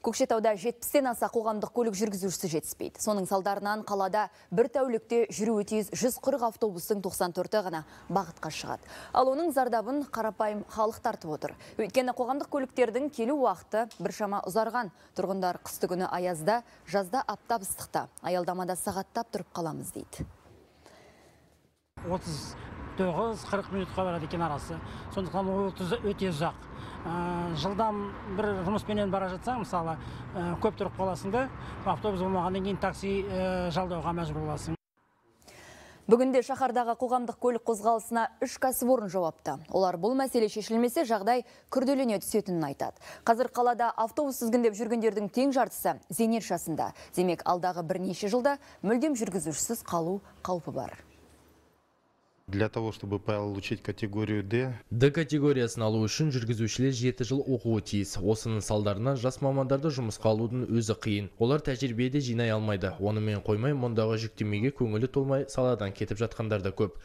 Көкшетауда 70-тен аса қоғамдық көлік жүргізушісі жетіспейді. Соның салдарынан қалада бір тәулікте жүруі тиіс 140 автобустың 94-і ғана бағытқа шығады. Ал оның зардабын қарапайым халық тартып отыр. Өйткені қоғамдық көліктердің келу уақыты біршама ұзарған. Тұрғындар қысты күні аязда, жазда аптап ыстықта, аялдамада сағаттап тұрып қаламыз дейді. 39-40 минутқа барады екен арасы. Сондықтан ол өте ұзақ. Жылдам бір жұмыспенен бара жатсаң, мысалы, көп тұрып қаласыңда, автобус болмағаннан кейін такси жалдауға мәжбүр боласың. Бүгінде шаһардағы қоғамдық көлік қозғалысына 3 кәсіпорын жауапты. Олар бұл мәселе шешілмесе жағдай күрделене түсетінін айтады. Қазір қалада автобус тізгіндеп жүргендердің тең жартысы зейнет жасында. Демек, алдағы бірнеше жылда мүлдем жүргізушісіз қалу қаупі бар. Для того, чтобы получить категорию D категориясын алу үшін жүргізушілер 7 жыл оқуы тиіс. Осының салдарынан жас мамандарды жұмысқа алудың өзі қиын. Олар тәжірибеде жинай алмайды. Онымен қоймай, мұндағы жүктемеге көңілі толмай саладан кетіп жатқандар да көп.